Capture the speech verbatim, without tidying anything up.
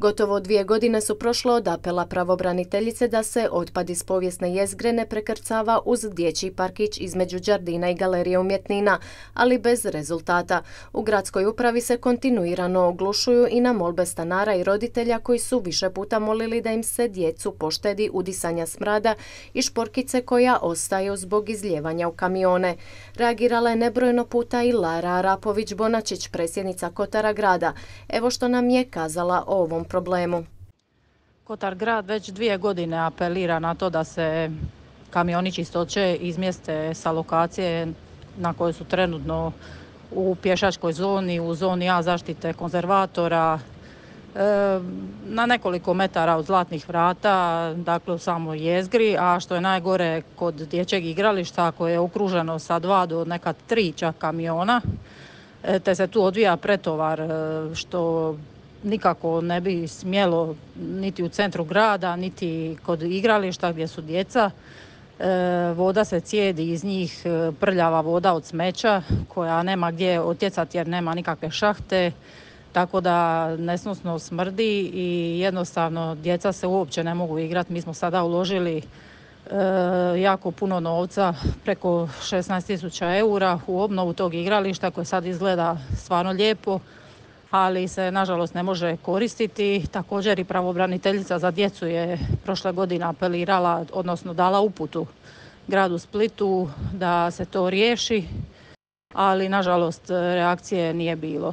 Gotovo dvije godine su prošle od apela pravobraniteljice da se otpad iz povijesne jezgre ne prekrcava uz dječji parkić između Đardina i Galerije umjetnina, ali bez rezultata. U gradskoj upravi se kontinuirano oglušuju i na molbe stanara i roditelja koji su više puta molili da im se djecu poštedi udisanja smrada i šporkice koja ostaju zbog izlijevanja u kamione. Reagirala je nebrojeno puta i Lara Arapović-Bonačić, predsjednica Kotara grada. Evo što nam je kazala o ovom problemu. Kotar grad već dvije godine apelira na to da se kamioni čistoće izmjeste sa lokacije na kojoj su trenutno u pješačkoj zoni, u zoni A zaštite konzervatora, na nekoliko metara od Zlatnih vrata, dakle u samoj jezgri, a što je najgore kod dječjeg igrališta koje je okruženo sa dva do neka tri čak kamiona, te se tu odvija pretovar što nikako ne bi smjelo niti u centru grada, niti kod igrališta gdje su djeca. Voda se cijedi iz njih, prljava voda od smeća koja nema gdje otjecati jer nema nikakve šahte, tako da nesnosno smrdi i jednostavno djeca se uopće ne mogu igrati. Mi smo sada uložili e, jako puno novca, preko šesnaest tisuća eura u obnovu tog igrališta koje sad izgleda stvarno lijepo, ali se nažalost ne može koristiti. Također i pravobraniteljica za djecu je prošle godine apelirala, odnosno dala uputu gradu Splitu da se to riješi, ali nažalost reakcije nije bilo.